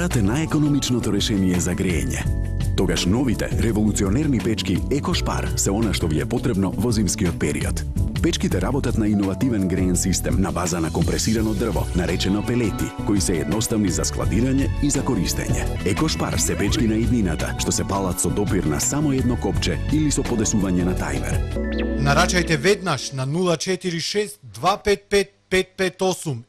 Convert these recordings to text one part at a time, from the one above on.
Газът е најекономичното решение за грејење. Тогаш новите револуционерни печки Екошпар се она што ви е потребно во зимскиот период. Печките работат на иновативен греен систем на база на компресирано дрво, наречено пелети, кои се едноставни за складирање и за користење. Екошпар се печки на иднината, што се палат со допир на само едно копче или со подесување на тајмер. Нарачајте веднаш на 046 255 558.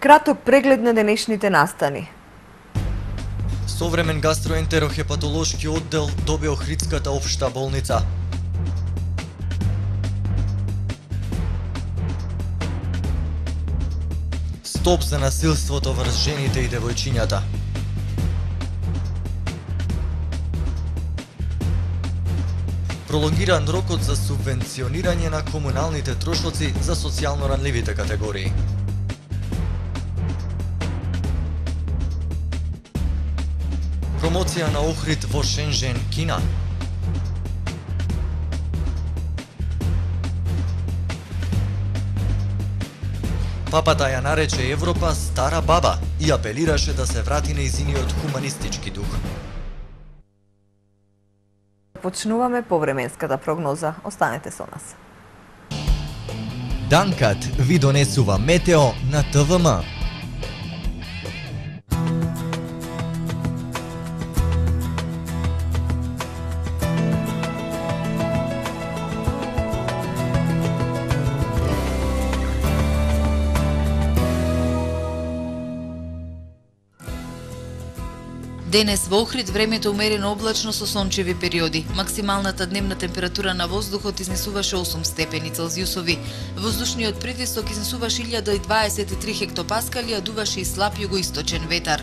Краток преглед на денешните настани. Современ гастроентерохепатолошки оддел до Беохридската општа болница. Стоп за насилството врз жените и девојчињата. Пролонгиран рокот за субвенционирање на комуналните трошоци за социјално ранливите категории. Промоција на Охрид во Шенжен, Кина. Папата ја нарече Европа стара баба и апелираше да се врати нејзиниот хуманистички дух. Почнуваме повременската прогноза. Останете со нас. Данкат ви донесува метео на ТВМ. Денес во Охрид времето умерено облачно со сончеви периоди. Максималната дневна температура на воздухот изнесуваше 8 степени Целзиусови. Воздушниот притисок изнесуваше 1023 хектопаскали, а дуваше и слаб југоисточен ветар.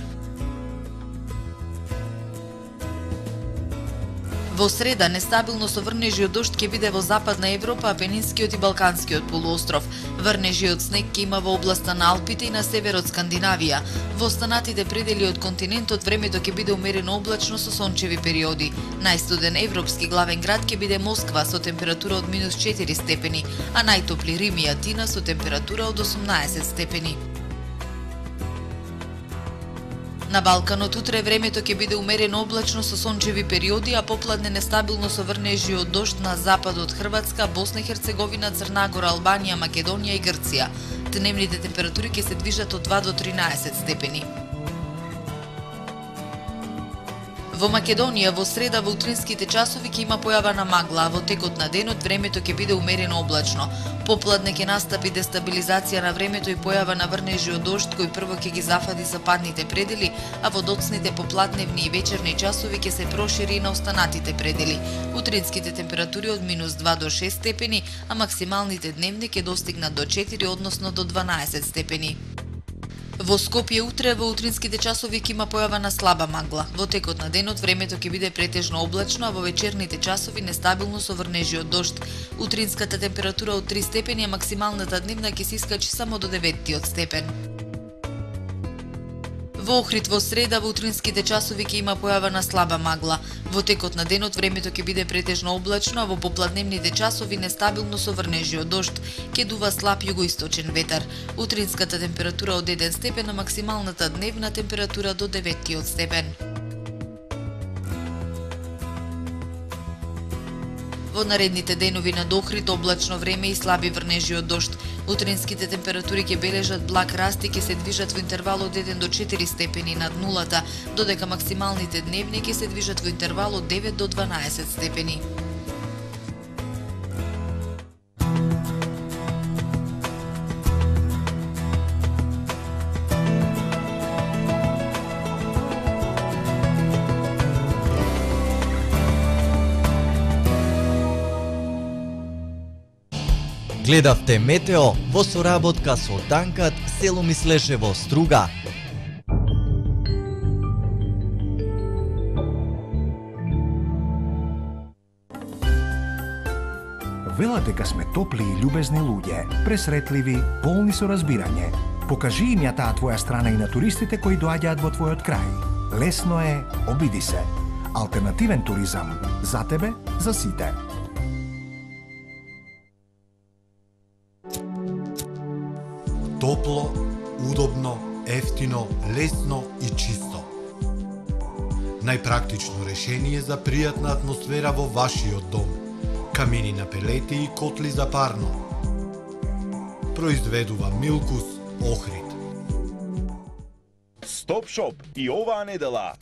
Во среда, нестабилно со врнежи од дожд ќе биде во Западна Европа, Апенинскиот и Балканскиот полуостров. Врнежи од снег ќе има во областа на Алпите и на северот Скандинавија. Во останатите предели од континентот времето ќе биде умерено облачно со сончеви периоди. Најстуден европски главен град ќе биде Москва со температура од -4 степени, а најтопли Рим и Атина со температура од 18 степени. На Балканот утре времето ќе биде умерено облачно со сончеви периоди, а попладне нестабилно со врнежи од дожд на запад од Хрватска, Босна и Херцеговина, Црна Гора, Албанија, Македонија и Грција. Дневните температури ќе се движат од 2 до 13 степени. Во Македонија во среда во утринските часови ќе има појава на магла, а во текот на денот времето ќе биде умерено облачно. Попладне ќе настапи дестабилизација на времето и појава на врнежи од дожд кој прво ќе ги зафади западните предели, а во доцните попладневни и вечерни часови ќе се прошири и на останатите предели. Утринските температури од -2 до 6 степени, а максималните дневни ќе достигнат до 4, односно до 12 степени. Во Скопје утре во утринските часови ќе има појава на слаба магла. Во текот на денот времето ќе биде претежно облачно, а во вечерните часови нестабилно со врнежи од дожд. Утринската температура од 3 степени, а максималната дневна ќе се искачи само до 9 степен. Во Охрид во среда во утринските часови ќе има појава на слаба магла. Во текот на денот времето ќе биде претежно облачно, а во попладневните часови нестабилно со врнежи од дожд. Ќе дува слаб југоисточен ветар. Утринската температура од 1 степен, а максималната дневна температура до 9 степен. Во наредните денови на Охрид облачно време и слаби врнежи од дожд. Утринските температури ќе бележат благ раст и ќе се движат во интервал од 1 до 4 степени над нулата, додека максималните дневни ќе се движат во интервал од 9 до 12 степени. Гледавте метео во соработка со Данкат, село Мислешево, Струга. Велат дека сме топли и љубезни луѓе, пресретливи, полни со разбирање. Покажи им ја таа твоја страна и на туристите кои доаѓаат во твојот крај. Лесно е, обиди се. Алтернативен туризам. За тебе, за сите. Топло, удобно, ефтино, лесно и чисто. Најпрактично решение за пријатна атмосфера во вашиот дом. Камини на пелети и котли за парно. Произведува Милкус Охрид. Стоп Шоп и оваа недела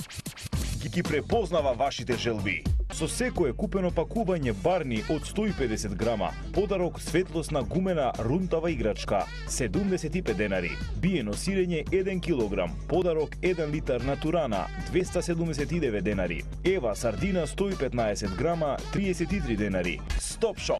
ги препознава вашите желби. Со секое купено пакување барни од 150 грама, подарок светлосна гумена рунтава играчка, 75 денари. Биено сирење 1 килограм, подарок 1 литар натурана, 279 денари. Ева сардина 115 грама, 33 денари. Стоп Шоп.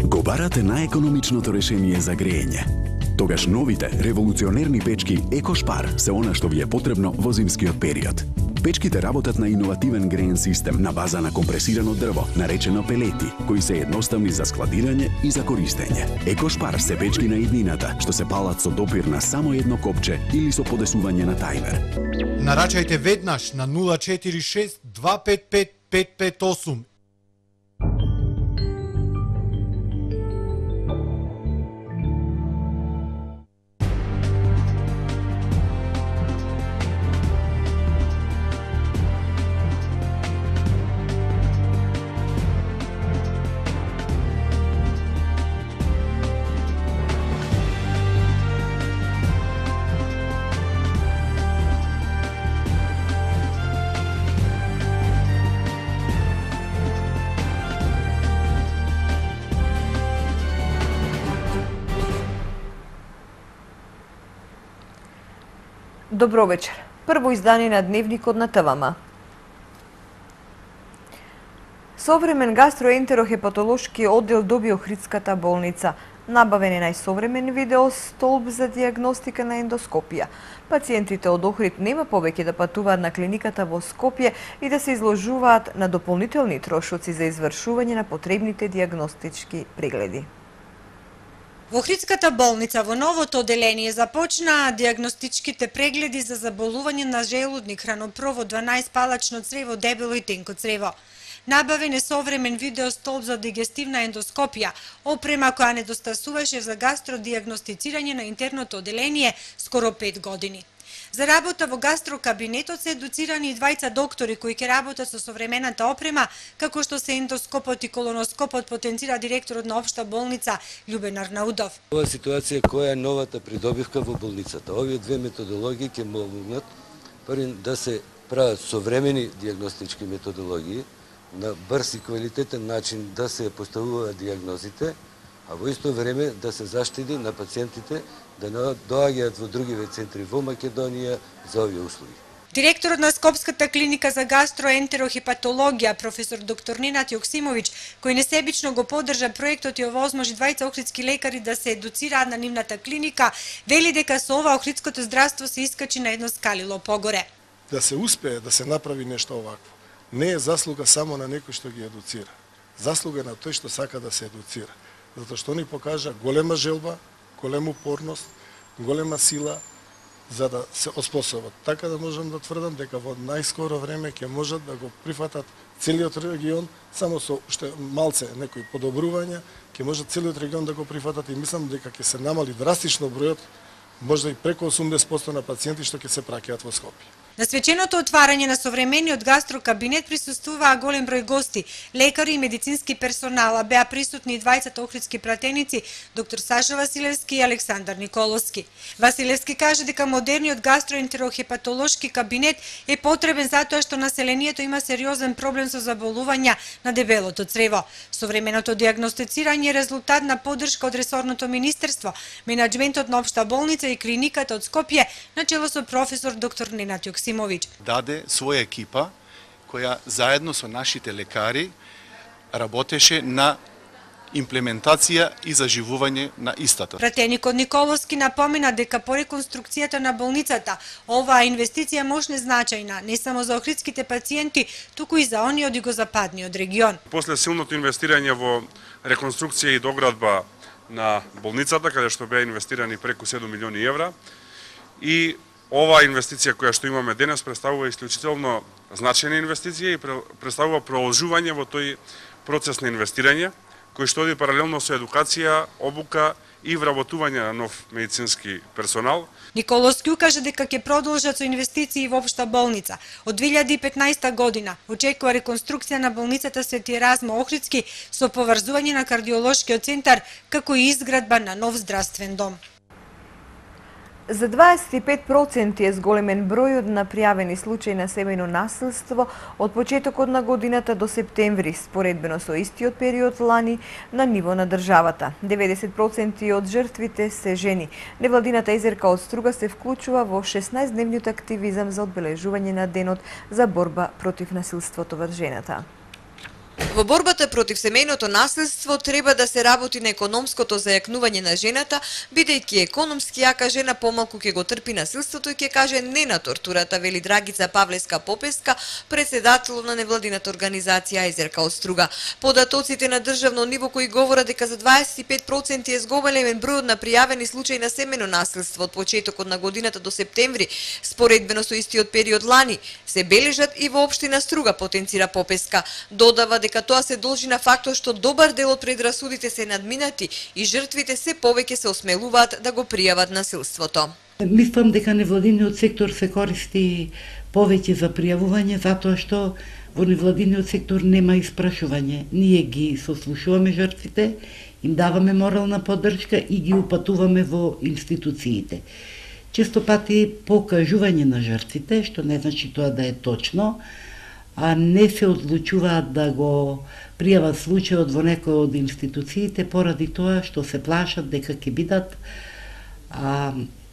Го барате најекономичното решение за грејење. Тогаш новите револуционерни печки Екошпар се она што ви е потребно во зимскиот период. Печките работат на иновативен греен систем на база на компресирано дрво, наречено пелети, кои се едноставни за складирање и за користење. Екошпар се печки на иднината, што се палат со допир на само едно копче или со подесување на тајмер. Нарачајте веднаш на 046 255 558. Добро вечер. Прво издание на Дневникот на ТВМ. Современ гастроентерохепатолошки оддел доби Охридската болница. Набавен е најсовремен видео столб за диагностика на ендоскопија. Пациентите од Охрид нема повеќе да патуваат на клиниката во Скопје и да се изложуваат на дополнителни трошоци за извршување на потребните диагностички прегледи. Во Охридската болница во новото оделение започнаа диагностичките прегледи за заболување на желудник, хранопровод, 12 палачно црево, дебело и тенко црево. Набавен е современ видеостолб за дигестивна ендоскопија, опрема која недостасуваше за гастродиагностицирање на интерното оделение скоро 5 години. За работа во гастрокабинетот се едуцирани и двајца доктори кои ќе работат со современата опрема, како што се ендоскопот и колоноскопот, потенцира директорот на Општа болница Љубен Арнаудов. Ова ситуација која е новата придобивка во болницата. Овие две методологии ќе помогнат да се прават современи диагностички методологии, на брз и квалитетен начин да се поставуваат диагнозите, а во исто време да се заштити на пациентите да не доаѓаат во другиве центри во Македонија за овие услуги. Директорот на Скопската клиника за гастроентерохепатологија, професор доктор Ненад Јоксимовиќ, кој несебично го поддржа проектот и овозможи двајца охридски лекари да се едуцираат на нивната клиника, вели дека со ова охридското здравство се искачи на едно скалило погоре. Да се успее да се направи нешто овакво, не е заслуга само на некој што ги едуцира. Заслуга е на тој што сака да се едуцира. Затоа што они покажа голема желба, голема упорност, голема сила за да се оспособат. Така да можам да тврдам дека во најскоро време ќе можат да го прифатат целиот регион, само со уште малце некои подобрувања, ќе можат целиот регион да го прифатат и мислам дека ќе се намали драстично бројот, можда и преку 80% на пациенти што ќе се праќаат во Скопје. На свеченото отварање на современиот гастрокабинет присуствуваа голем број гости, лекари и медицински персонал, а беа присутни и двајцата охридски пратеници, доктор Саша Василевски и Александар Николовски. Василевски каже дека модерниот гастроентерохепатолошки кабинет е потребен затоа што населението има сериозен проблем со заболувања на дебелото црево. Современото диагностицирање е резултат на поддршка од ресорното министерство, менаџментот на Општа болница и клиниката од Скопје, начело со професор доктор Ненад Јоксимовиќ. Даде своја екипа која заедно со нашите лекари работеше на имплементација и заживување на истата. Пратеникот Николовски напомена дека по реконструкцијата на болницата оваа инвестиција можне значајна не само за охридските пациенти, туку и за оние од југозападниот регион. После силното инвестирање во реконструкција и доградба на болницата, каде што беа инвестирани преку 7 милиони евра, и оваа инвестиција која што имаме денес представува исклучително значајна инвестиција и представува продолжување во тој процес на инвестирање, кој што оди паралелно со едукација, обука и вработување на нов медицински персонал. Николовски укажа дека ќе продолжат со инвестиции во општа болница. Од 2015 година очекува реконструкција на болницата Свети Еразмо Охридски со поврзување на кардиолошкиот центар, како и изградба на нов здравствен дом. За 25% е зголемен бројот на пријавени случаи на семејно насилство од почетокот на годината до септември, споредбено со истиот период лани на ниво на државата. 90% од жртвите се жени. Невладината Езерка од Струга се вклучува во 16-дневниот активизам за одбележување на денот за борба против насилството врз жената. Во борбата против семејното насилство треба да се работи на економското зајакнување на жената, бидејќи економски јака жена помалку ќе го трпи насилството и ќе каже не на тортурата, вели Драгица Павлеска-Попеска, председател на невладината организација Езерка од Струга. Податоците на државно ниво кои говорат дека за 25% е зголемен бројот на пријавени случаи на семејно насилство од почетокот на годината до септември, споредбено со истиот период лани, се бележат и во општина Струга, потенцира Попеска. Додава дека тоа се должи на фактот што добар дел од предрасудите се надминати и жртвите се повеќе се осмелуваат да го пријават насилството. Мислам дека невладиниот сектор се користи повеќе за пријавување затоа што во невладиниот сектор нема испрашување. Ние ги сослушуваме жртвите, им даваме морална поддршка и ги упатуваме во институциите. Често пати покажување на жртвите, што не значи тоа да е точно, а не се одлучуваат да го пријават случајот во некој од институциите поради тоа што се плашат дека ќе бидат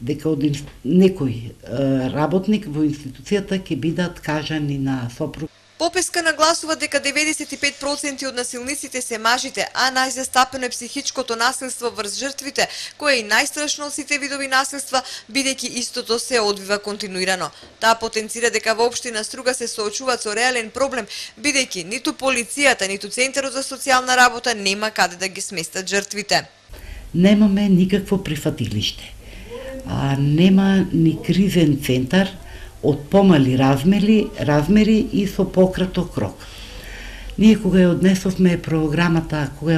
дека од некој работник во институцијата ќе бидат кажани на сопруг. Попеска нагласува дека 95% од насилниците се мажите, а најзастапено е психичкото насилство врз жртвите, кое е и најстрашно од сите видови насилства, бидејќи истото се одвива континуирано. Таа потенцира дека во општина Струга се соочуваат со реален проблем, бидејќи ниту полицијата, ниту Центарот за социјална работа нема каде да ги сместат жртвите. Немаме никакво прифатилиште. Нема ни кризен центар од помали размери и со пократок рок. Ние кога ја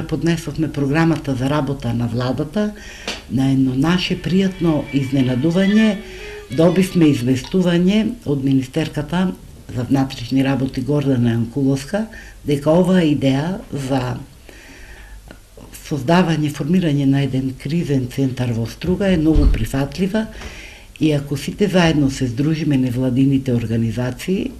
поднесовме програмата за работа на владата, на едно наше пријатно изненадување, добивме известување од Министерката за внатрешни работи Гордана Јанкуловска дека оваа идеја за создавање, формирање на еден кризен центар во Струга е многу прифатлива и ако сите заедно се здружиме невладините организации,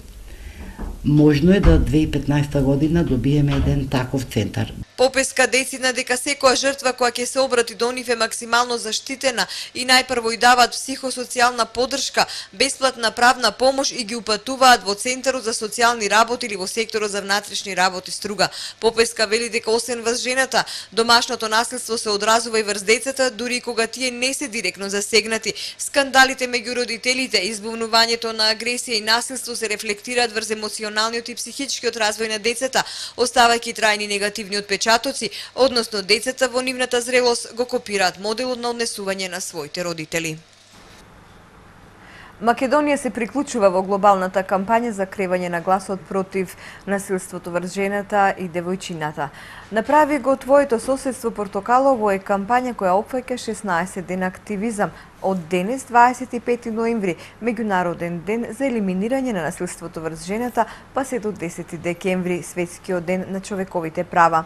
можно е да 2015 година добиеме еден таков центар. Попеска децидна дека секоја жртва која ќе се обрати до нив е максимално заштитена и најпрво и даваат психосоцијална поддршка, бесплатна правна помош и ги упатуваат во Центарот за социјални работи или во секторот за внатрешни работи Струга. Попеска вели дека освен врз жената, домашното насилство се одразува и врз децата, дури и кога тие не се директно засегнати. Скандалите меѓу родителите, избунувањето на агресија и насилство се рефлектираат врз емоционалниот и психичкиот развој на децата, оставајќи трајни негативни отпечатоци, односно децата во нивната зрелост го копираат моделот на однесување на своите родители. Македонија се приклучува во глобалната кампања за кревање на гласот против насилството врз жената и девојчината. Направи го твоето соседство Портокалово е кампања која опфаќа 16 ден активизам. Од денес, 25 ноември, меѓународен ден за елиминирање на насилството врз жената, па се до 10 декември, светскиот ден на човековите права.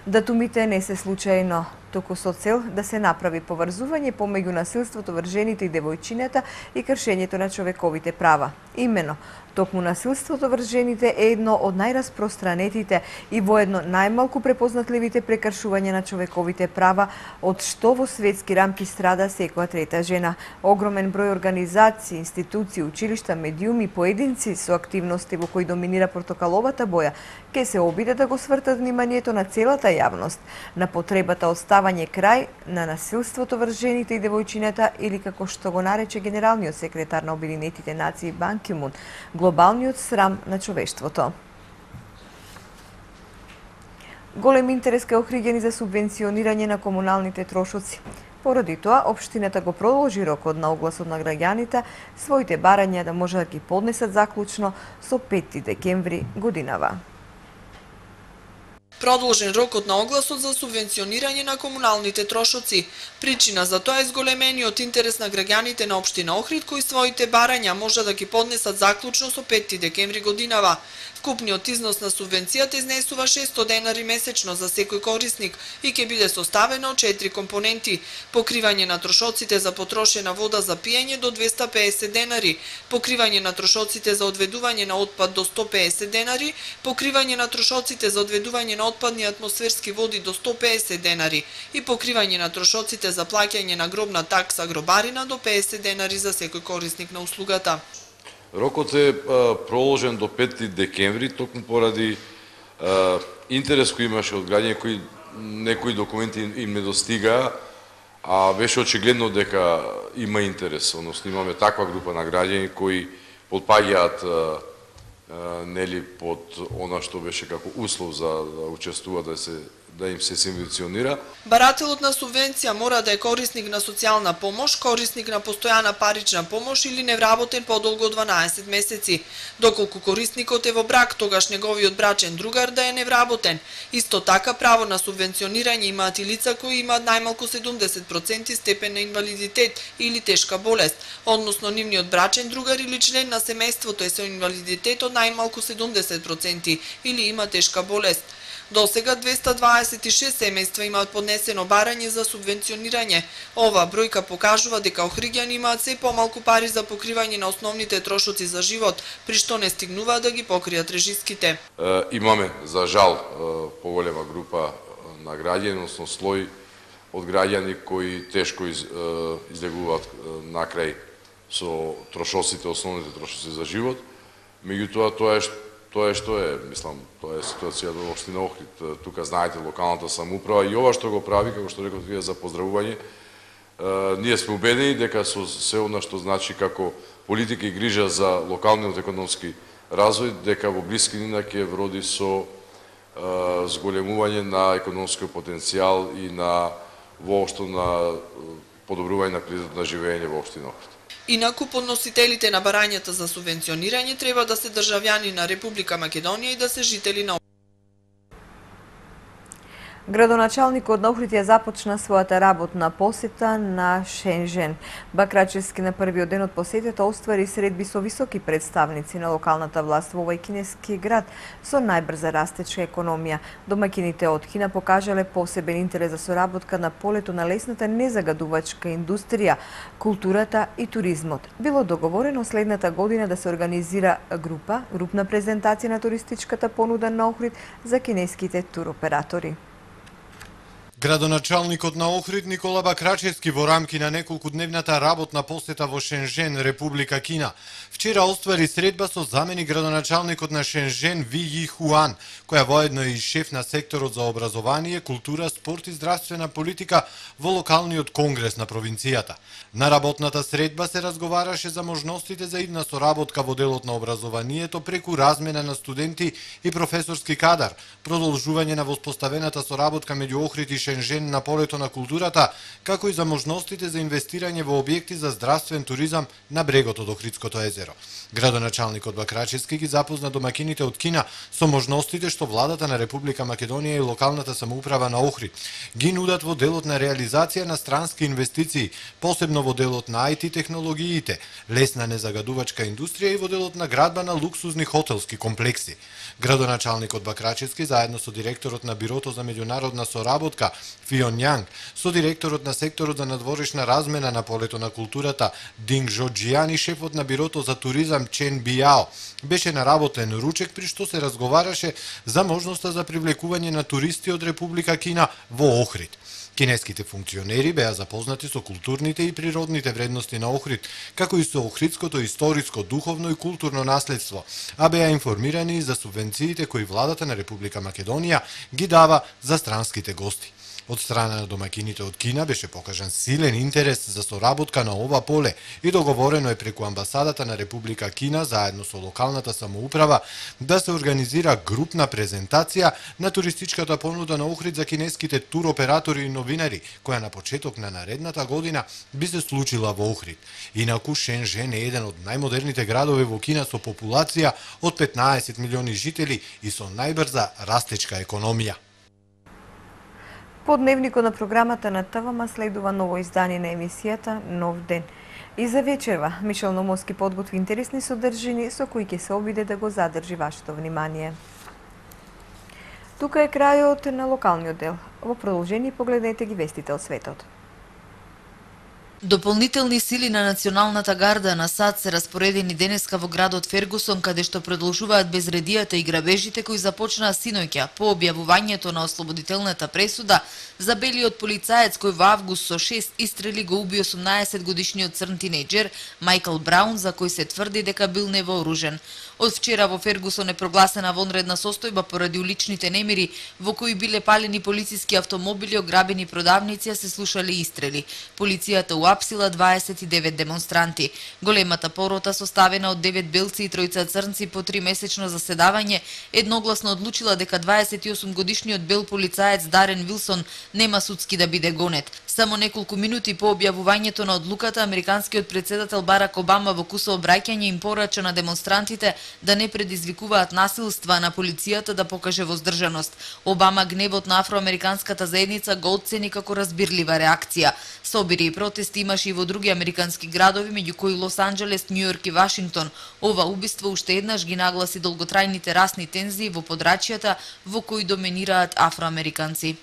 Датумите не се случајно, туку со цел да се направи поврзување помеѓу насилството врз жените и девојчината и кршењето на човековите права. Имено, токму насилството врз жените е едно од најраспространетите и воедно најмалку препознатливите прекршувања на човековите права, од што во светски рамки страда секоја трета жена. Огромен број организации, институции, училишта, медиуми, поединци со активности во кои доминира портокаловата боја, ке се обиде да го свртат вниманието на целата јавност на потребата од ставање крај на насилството врз жените и девојчината или како што го нарече генералниот секретар на Обединетите нации Бан Ки Мун, глобалниот срам на човештвото. Голем интерес кај охриѓани за субвенционирање на комуналните трошоци. Поради тоа, општината го продолжи рокот на огласот на граѓаните своите барања да може да ги поднесат заклучно со 5 декември годинава. Продолжен рокот на огласот за субвенционирање на комуналните трошоци. Причина за тоа е зголемениот интерес на граѓаните на општина Охрид кои своите барања може да ги поднесат заклучно со 5 декември годинава. Вкупниот износ на субвенцијата изнесува 600 денари месечно за секој корисник и ќе биде составено од 4 компоненти: покривање на трошоците за потрошена вода за пиење до 250 денари, покривање на трошоците за одведување на отпад до 150 денари, покривање на трошоците за одведување на отпадни атмосферски води до 150 денари и покривање на трошоците за плаќање на гробна такса гробарина до 50 денари за секој корисник на услугата. Рокот е проложен до 5 декември, токму поради интерес кој имаше од граѓани кои некои документи им не достигаа, а беше очигледно дека има интерес, односно имаме таква група на граѓани кои потпаѓаат нели под она што беше како услов за да учествува да им се субвенционира. Барателот на субвенција мора да е корисник на социјална помош, корисник на постојана парична помош или невработен подолго од 12 месеци. Доколку корисникот е во брак, тогаш неговиот брачен другар да е невработен. Исто така право на субвенционирање имаат и лица кои имаат најмалку 70% степен на инвалидитет или тешка болест, односно нивниот брачен другар или член на семејството е со инвалидитет од најмалку 70% или има тешка болест. До сега 226 семејства имаат поднесено барање за субвенционирање. Ова бројка покажува дека охриѓани имаат се помалку пари за покривање на основните трошоци за живот, при што не стигнуваат да ги покријат режиските. Имаме, за жал, поголема група на граѓани, односно слој од граѓани кои тешко излегуваат накрај со трошоците, основните трошоци за живот. Меѓутоа, тоа е што е, мислам, тоа е ситуација во општина Охрид. Тука знаете локалната самоуправа и ова што го прави, како што реков вие за поздравување, ние сме убедени дека со се она што значи како политика и грижа за локалниот економски развој, дека во блискина ќе вроди со зголемување на економскиот потенцијал и на воопшто на подобрување на квалитетот на живење во општина Охрид. Инаку, подносителите на барањата за субвенционирање треба да се државјани на Република Македонија и да се жители на Градоначалникот на Охрид ја започна својата работна посета на Шенжен. Бакрачевски на првиот ден од посетата оствари средби со високи представници на локалната власт во овој кинески град со најбрза растечка економија. Домакините од Кина покажале посебен интерес за соработка на полето на лесната незагадувачка индустрија, културата и туризмот. Било договорено следната година да се организира групна презентација на туристичката понуда на Охрид за кинеските туроператори. Градоначалникот на Охрид Никола Бакрачевски во рамки на неколкудневната работна посета во Шенжен, Република Кина, вчера оствари средба со замени градоначалникот на Шенжен Ви Ји Хуан, која воедно е и шеф на секторот за образование, култура, спорт и здравствена политика во локалниот конгрес на провинцијата. На работната средба се разговараше за можностите за идна соработка во делот на образованието преку размена на студенти и професорски кадар, продолжување на воспоставената соработка меѓу Охрид и Шенжен на полето на културата, како и за можностите за инвестирање во објекти за здравствен туризам на брегот од Охридското езеро. Градоначалникот Бакрачевски ги запозна домакините од Кина со можностите што владата на Република Македонија и локалната самоуправа на Охрид ги нудат во делот на реализација на странски инвестиции, посебно во делот на IT технологиите, лесна незагадувачка индустрија и во делот на градба на луксузни хотелски комплекси. Градоначалникот Бакрачевски заедно со директорот на Бирото за меѓународна соработка Фион Јанг, со директорот на секторот за надворешна размена на полето на културата Динг Жоджијан и шефот на Бирото за туризам Чен Бијао, беше на работен ручек при што се разговараше за можноста за привлекување на туристи од Република Кина во Охрид. Кинеските функционери беа запознати со културните и природните вредности на Охрид, како и со охридското историско, духовно и културно наследство, а беа информирани за субвенциите кои владата на Република Македонија ги дава за странските гости. Од страна на домакините од Кина беше покажан силен интерес за соработка на ова поле и договорено е преку амбасадата на Република Кина заедно со локалната самоуправа да се организира групна презентација на туристичката понуда на Охрид за кинеските туроператори и новинари, која на почеток на наредната година би се случила во Охрид. Инаку Шенжен е еден од најмодерните градови во Кина со популација од 15 милиони жители и со најбрза растечка економија. По дневникот на програмата на ТВМ следува ново издание на емисијата Нов ден. И за вечерва Мишел Номовски подготви интересни содржини со кои ќе се обиде да го задржи вашето внимание. Тука е крајот на локалниот дел. Во продолжение погледнете ги вестите од светот. Дополнителни сили на Националната гарда на САД се распоредени денеска во градот Фергусон, каде што продолжуваат безредијата и грабежите кои започнаа синоќа по објавувањето на ослободителната пресуда за белиот полицаец кој во август со 6 истрели го уби 18-годишниот црн тинејџер Майкл Браун, за кој се тврди дека бил невооружен. Од вчера во Фергусон е прогласена вонредна состојба поради уличните немири во кои биле палени полициски автомобили, ограбени продавници, а се слушале истрели. Полицијата уапсила 29 демонстранти. Големата порота, составена од 9 белци и 3 црнци по 3-месечно заседавање, едногласно одлучила дека 28-годишниот бел полицаец Дарен Вилсон нема судски да биде гонет. Само неколку минути по објавувањето на одлуката, американскиот претседател Барак Обама во кусо обраќање им порача на демонстрантите да не предизвикуваат насилства, на полицијата да покаже воздржаност. Обама гневот на афроамериканската заедница го оцени како разбирлива реакција. Собири и протести имаше и во други американски градови, меѓу кои Лос Анџелес, Њујорк и Вашингтон. Ова убиство уште еднаш ги нагласи долготрајните расни тензии во подрачјата во кои доминираат афроамериканци.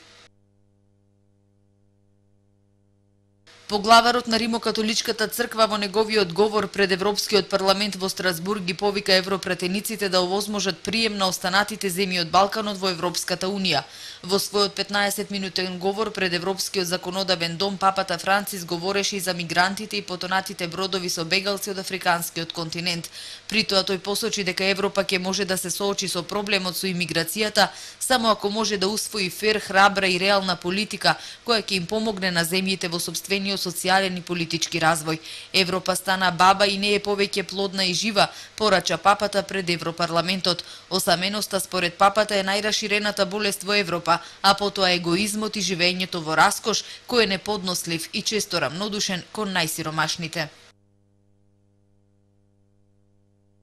Поглаварот на Римокатоличката црква во неговиот говор пред Европскиот парламент во Страсбург ги повика европратениците да овозможат прием на останатите земји од Балканот во Европската унија. Во својот 15-минутен говор пред Европскиот законодавен дом, папата Францис говореше и за мигрантите и потонатите бродови со бегалци од африканскиот континент. При тоа тој посочи дека Европа ќе може да се соочи со проблемот со имиграцијата само ако може да усвои фер, храбра и реална политика која ќе им помогне на земјите во сопствениот социјален и политички развој. Европа стана баба и не е повеќе плодна и жива, порача папата пред Европарламентот. Осаменоста според папата е најраширената болест во Европа, а потоа егоизмот и живењето во раскош кој е неподнослив и често рамнодушен кон најсиромашните.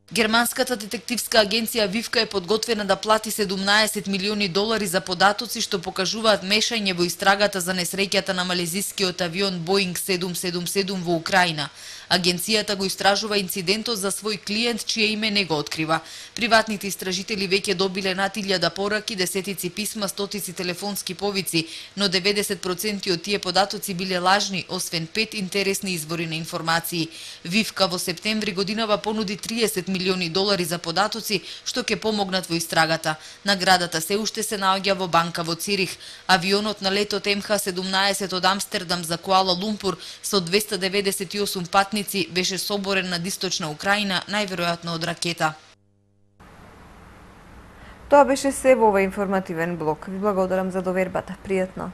Германската детективска агенција Вивка е подготвена да плати 17 милиони долари за податоци што покажуваат мешање во истрагата за несреќата на малезискиот авион Боинг 777 во Украина. Агенцијата го истражува инцидентот за свој клиент, чие име не го открива. Приватните истражители веќе добиле над 1000 пораки, десетици писма, стотици телефонски повици, но 90% од тие податоци биле лажни, освен 5 интересни извори на информации. Вивка во септември годинава понуди 30 милиони долари за податоци, што ќе помогнат во истрагата. Наградата се уште се наоѓа во банка во Цирих. Авионот на летот МХ-17 од Амстердам за Куала Лумпур со 298 патници беше соборен над источна Украина, најверојатно од ракета. Тоа беше се во овој информативен блок. Ви благодарам за довербата. Пријатно.